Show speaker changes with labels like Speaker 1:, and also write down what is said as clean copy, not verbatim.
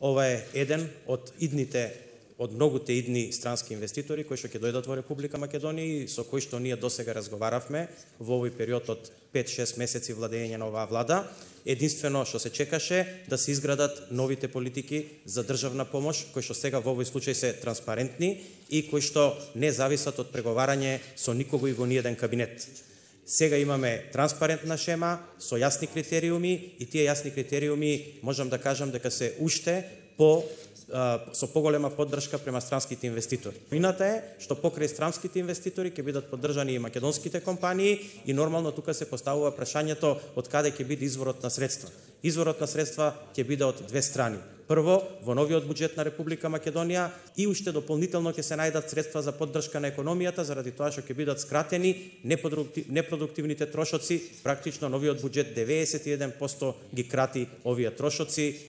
Speaker 1: Ова е еден од многуте идни странски инвеститори кои што ќе дојдат во Република Македонија и со кои што ние досега разговаравме во овој период од 5-6 месеци владење на оваа влада. Единствено што се чекаше да се изградат новите политики за државна помош, кои што сега во овој случај се транспарентни и кои што не зависат од преговарање со никого и во ниеден кабинет. Сега имаме транспарентна шема со јасни критериуми и тие јасни критериуми можам да кажам дека се уште со поголема поддршка према странските инвеститори. Вината е што покрај странските инвеститори ќе бидат поддржани и македонските компании и нормално тука се поставува прашањето од каде ќе биде изворот на средства. Изворот на средства ќе биде од две страни. Прво, во новиот буџет на Република Македонија и уште дополнително ќе се најдат средства за поддршка на економијата заради тоа што ќе бидат скратени непродуктивните трошоци. Практично новиот буџет 91% ги крати овие трошоци